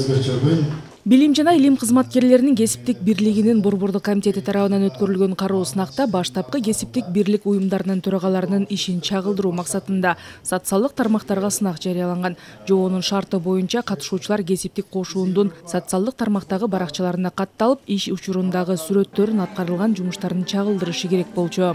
өзгөчө күн. Билим жана илим кызматкерлеринин кесиптик бирлигинин борбордук комитети тарабынан өткөрүлгөн кароо сынакта баштапкы кесиптик бирлик уюмдарынын төрагаларынын ишин чагылдыруу максатында социалдык тармактарга сынак жарыяланган. Жоонун шарты боюнча катышуучулар кесиптик кошуундун социалдык тармактагы баракчаларына катталып, иш учурундагы сүрөттөрүн аткарылган жумуштарын чагылдырышы керек болчу.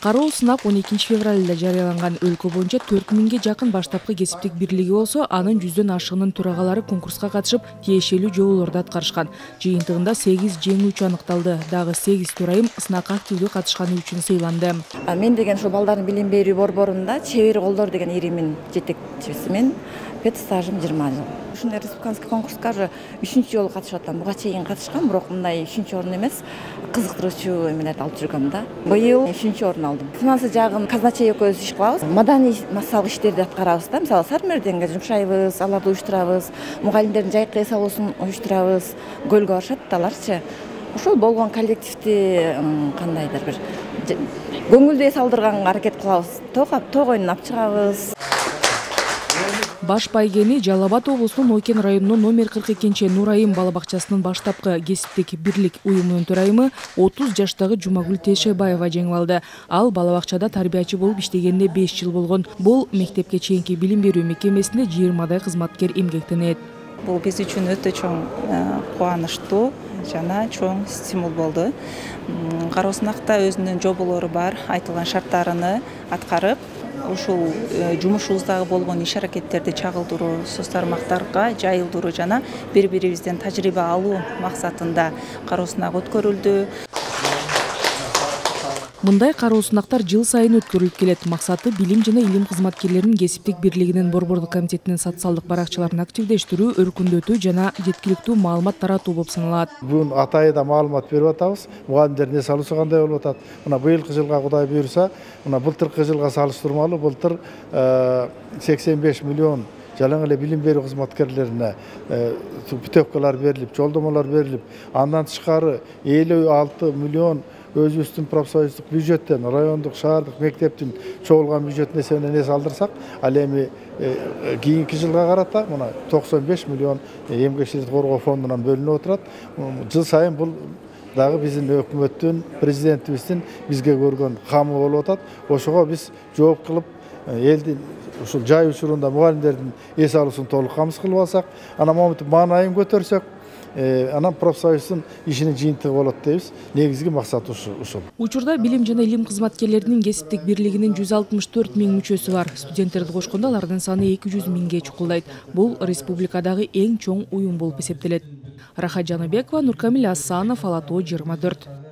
Кароо сынак 12 февралда жарыяланган. Өлкө боюнча 4000ге жакын баштапкы кесиптик бирлиги болсо, анын 100дөн ашыгынын төрагалары конкурска катышып, тиешелүү жоболорду аткарышкан. Жыйынтыгында 8 жеңүүчү аныкталды. Дагы 8 төрайым сынакка активдүү катышканы үчүн сыйланды. Мен деген ошо балдардын билим берүү борборунда чебер колдор деген иримин жетекчисимин. Пет стажым 20 жыл. Ушундай республиканский конкурска уже 3-чү жолу катышып атам. Буга чейин катышкам, бирок мындай 3-чү орун эмес, кызыктыруучу эмелерди алып жүргөм да. Быйыл 3-чү орун алдым. Финансы жагын казначей экөөбүз иш кылабыз. Маданий массалык иштерди аткарабыз да. Мисалы сармерденге жумшайбыз, аларды уюштурабыз, мугалимдердин жайкы эс алуусун уюштурабыз. Көлгө барышат да аларчы. Ошол болгон коллективди кандайдыр бир көңүлдүү эс алдырганга аракет кылабыз. Тоо коюнун алып чыгабыз. Баш байгени Жалал Абад облусунун Ойкен районунун номер 42 Нурайым бала бакчасынын баштапкы кесиптик бирлик уюмунун төрайымы 30 жаштагы Жумагүл Тешебаева жеңип алды. Ал бала бакчада тарбиячы болуп иштегенине 5 жыл болгон. Бул мектепке чейинки билим берүү мекемесинде 20дай кызматкер эмгектенет. Бул биз үчүн өтө чоң кубанычтуу жана чоң стимул болду. Кароо сынакта өзүнүн жоболору бар, айтылган шарттарыны аткарып, ушул жумушубуздагы болгон иш аракеттерди чагылдыруу, соц тармактарга жайылдыруу жана бири-бирибизден тажрыйба алуу максатында кароо сынак өткөрүлдү. Мындай кароо сынактар жыл сайын өткөрүлүп келет. Максаты билим жана илим кызматкерлеринин кесиптик бирлигинин борбордук комитетинин социалдык баракчаларын активдештирүү, өркүндөтүү жана жеткиликтүү маалымат таратуу болуп саналат. Бүгүн атайда маалымат берип атабыз. Мугалимдердин эс алуусу кандай болуп атат? Мына быйылкы жылга Кудай буйруса, мына былтыркы жылга салыштырмалуу былтыр 85 миллион жалаң эле билим берүү кызматкерлерине путевкалар берилип, жолдомолор берилип, андан тышкары 56 миллион өзүбүздүн профсоюздук бюджеттен, райондук, шаардык мектептин чогулган бюджет эсебинен эс алдырсак, ал эми кийинки жылга карата мына 95 миллион эмгекчиликти коргоо фондунан бөлүнүп отурат. Жыл сайын бул дагы биздин өкмөттүн, президентибиздин бизге көргөн камы болуп атат. Ошого биз жооп кылып, элдин ушул жай учурунда мугалимдердин эс алуусун толук камсыз кылып алсак, анан момунтип маанайын көтөрсөк, анан профсоюздун ишинин жыйынтыгы болот дейбиз. Негизги максат ушул. Учурда билим жана илим кызматкерлеринин кесиптик бирлигинин 164 000 мүчөсү бар. Студенттерди кошкондо алардын саны 200 000ге чукулдайт. Бул республикадагы эң чоң уюм болуп эсептелет. Рахат Жаныбекова, Нуркамил Асанов, Ала Тоо 24.